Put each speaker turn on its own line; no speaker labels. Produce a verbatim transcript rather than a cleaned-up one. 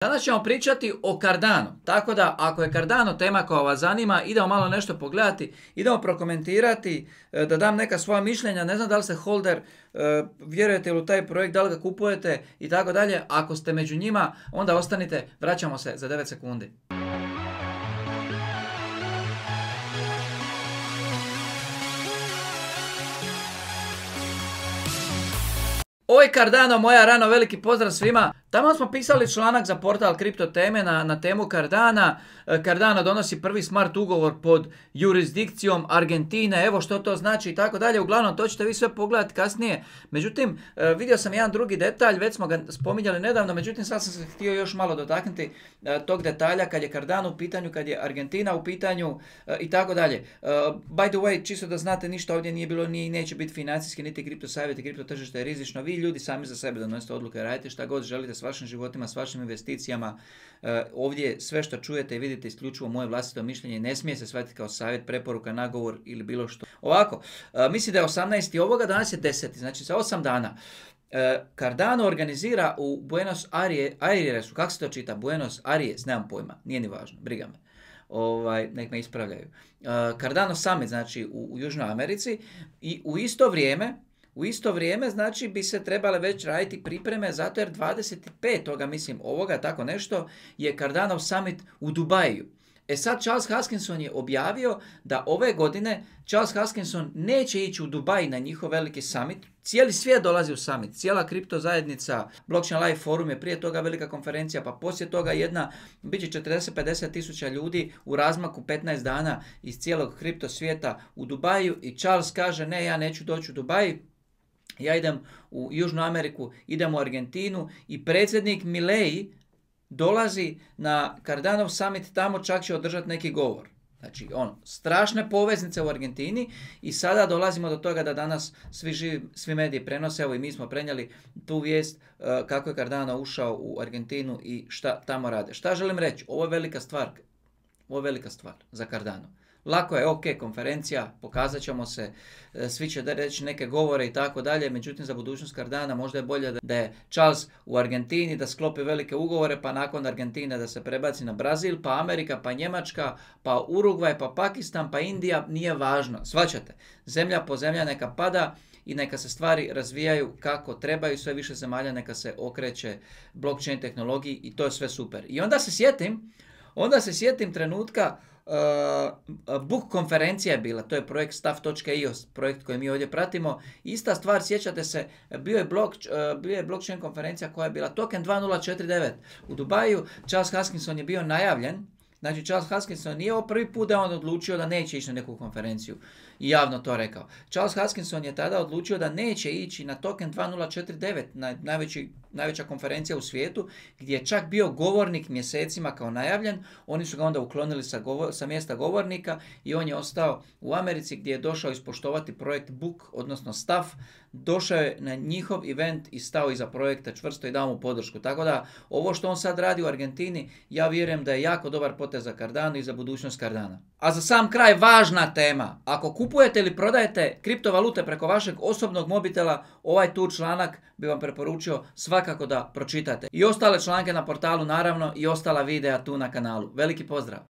Danas ćemo pričati o Cardano, tako da ako je Cardano tema koja vas zanima, idemo malo nešto pogledati, idemo prokomentirati, da dam neka svoja mišljenja, ne znam da li ste holder, vjerujete li u taj projekt, da li ga kupujete i tako dalje. Ako ste među njima, onda ostanite, vraćamo se za devet sekundi. Ovo je Cardano, moja rano, veliki pozdrav svima. Tamo smo pisali članak za portal Kripto teme na, na temu Cardana. Cardano donosi prvi smart ugovor pod jurisdikcijom Argentine, evo što to znači i tako dalje. Uglavnom, to ćete vi sve pogledati kasnije. Međutim, vidio sam jedan drugi detalj, već smo ga spominjali nedavno, međutim sad sam se htio još malo dotaknuti tog detalja kad je Cardano u pitanju, kad je Argentina u pitanju i tako dalje. By the way, čisto da znate, ništa ovdje nije bilo, ni neće biti financijski, niti kripto savjeti, kripto tržište je rizično. Vi ljudi sami za sebe donosite odluke, radite šta god želite s vašim životima, s vašim investicijama. Ovdje sve što čujete i vidite isključivo moje vlastito mišljenje, ne smije se shvatiti kao savjet, preporuka, nagovor ili bilo što. Ovako, mislim da je osamnaesti ovoga, danas je deseti, znači za osam dana. Cardano organizira u Buenos Airesu, kako se to čita? Buenos Aires, nemam pojma, nije ni važno, briga me. Ovaj, nek me ispravljaju. Cardano Summit, znači u, u Južnoj Americi, i u isto vrijeme U isto vrijeme, znači, bi se trebale već raditi pripreme, zato jer dvadeset petog mislim, ovoga, tako nešto, je Cardano Summit u Dubaju. E sad, Charles Hoskinson je objavio da ove godine Charles Hoskinson neće ići u Dubaj na njihov veliki summit. Cijeli svijet dolazi u summit, cijela kripto zajednica, Blockchain Live forum je prije toga velika konferencija, pa poslije toga jedna, bit će četrdeset do pedeset tisuća ljudi u razmaku petnaest dana iz cijelog kripto svijeta u Dubaju i Charles kaže, ne, ja neću doći u Dubaj. Ja idem u Južnu Ameriku, idem u Argentinu i predsjednik Milei dolazi na Cardanov summit, tamo čak će održati neki govor. Znači, ono, strašne poveznice u Argentini i sada dolazimo do toga da danas svi, živi, svi mediji prenose, evo i mi smo prenijeli tu vijest uh, kako je Cardano ušao u Argentinu i šta tamo rade. Šta želim reći? Ovo je velika stvar, ovo je velika stvar za Cardano. Lako je, ok, konferencija, pokazat ćemo se, svi će reći neke govore i tako dalje, međutim za budućnost Cardana možda je bolje da je Charles u Argentini, da sklopi velike ugovore, pa nakon Argentine da se prebaci na Brazil, pa Amerika, pa Njemačka, pa Urugvaj, pa Pakistan, pa Indija, nije važno. Shvaćate, zemlja po zemlja neka pada i neka se stvari razvijaju kako trebaju, sve više zemalja neka se okreće blockchain tehnologiji i to je sve super. I onda se sjetim, onda se sjetim trenutka, Uh, Book konferencija je bila, to je projekt staff dot i o, projekt koji mi ovdje pratimo. Ista stvar, sjećate se, bio je, blok, uh, bio je blockchain konferencija koja je bila Token dva nula četiri devet u Dubaju. Charles Hoskinson je bio najavljen. Znači, Charles Hoskinson nije ovo prvi put da on odlučio da neće ići na neku konferenciju i javno to rekao. Charles Hoskinson je tada odlučio da neće ići na Token dva nula četiri devet, na najveći, najveća konferencija u svijetu, gdje je čak bio govornik mjesecima kao najavljen. Oni su ga onda uklonili sa, govor, sa mjesta govornika i on je ostao u Americi gdje je došao ispoštovati projekt Book, odnosno Staff. Došao je na njihov event i stao iza projekta čvrsto i dao mu podršku. Tako da ovo što on sad radi u Argentini, ja vjerujem da je jako dobar potez za Cardano i za budućnost Cardana. A za sam kraj važna tema. Ako kupujete ili prodajete kriptovalute preko vašeg osobnog mobitela, ovaj tu članak bi vam preporučio svakako da pročitate. I ostale članke na portalu naravno i ostala videa tu na kanalu. Veliki pozdrav!